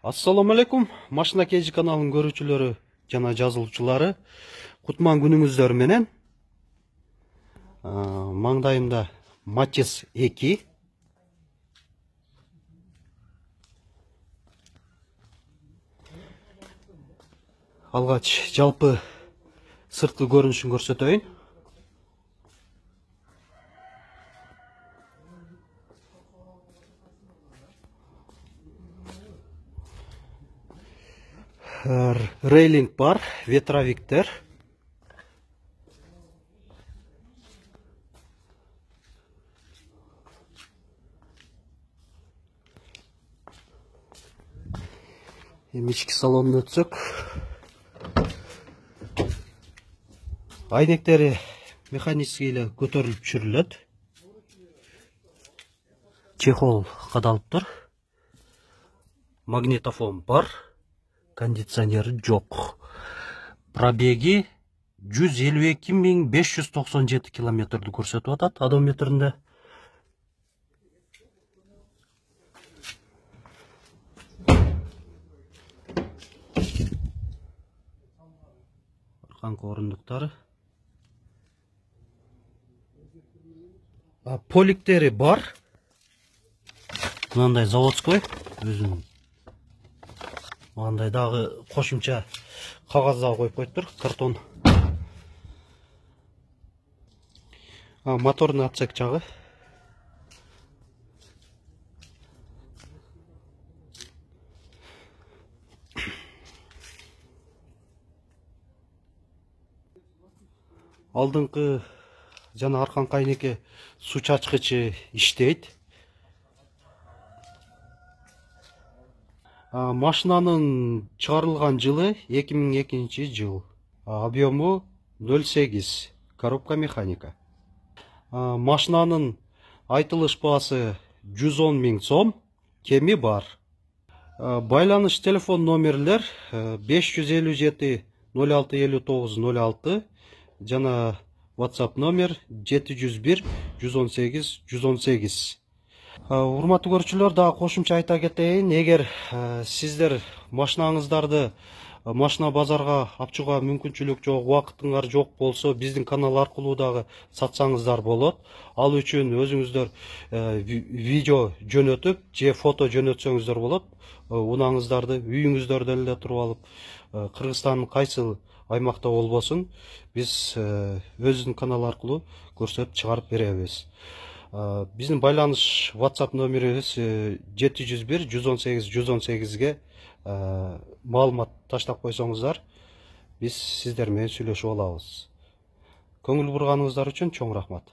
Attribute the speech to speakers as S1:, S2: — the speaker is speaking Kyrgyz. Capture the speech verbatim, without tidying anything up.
S1: Assalamu alaikum. Машина Кежи каналынын көрүүчүлөрү жана жазылуучулары. Кутман күнүңүздөр менен. Маңдайымда Матис эки. Алгач жалпы сырткы көрүнүшүн көрсөтөйүн. Рейлинг бар, ветровиктер. Эми ички салонуна өтсөк. Айнектери механический эле көтөрүлүп түшүрүлөт. Чехол кадалыптыр. Магнитофон бар. Кондиционери жок. Пробеги жүз элүү эки миң беш жүз токсон жети километрди көрсөтүп атат одометринде. Арканкы орундуктары. Поликтери бар. Мындай заводской өзүнүн. Мындай дагы кошумча кагаз дагы коюп коюптур, картон. Мотордун отсек жагы. Алдыңкы жана арканкы айнеке суу чачкычы иштейт. Машинанын чыгарылган жылы эки миң экинчи жыл. Объему ноль сегиз. Коробка механика. Машинанын айтылыш баасы жүз он миң сом. Кеми бар. Байланыш телефон номерлер беш жүз элүү жети ноль алты элүү тогуз ноль алты жана WhatsApp номер жети жүз бир жүз он сегиз жүз он сегиз. Урматтуу көрүүчүлөр, дагы кошумча айта кетейин, эгер сиздер машинаңыздарды машина базарга апчуга мүмкүнчүлүк жок, убакытыңар жок болсо, биздин канал аркылуу дагы сатсаңыздар болот. Ал үчүн өзүңүздөр видео жөнөтүп, же фото жөнөтсөңүздөр болот. Унаңыздарды үйүңүздөрдөн эле туруп алып, Кыргызстандын кайсы аймакта болбосун, биз өзүбүздүн канал аркылуу көрсөтүп чыгарып беребиз. Биздин байланыш WhatsApp номерибиз жети жүз бир жүз он сегиз жүз он сегизге маалымат таштап койсоңуздар, биз сиздер менен сүйлөшүп алабыз. Көңүл бурганыңыздар үчүн чоң рахмат.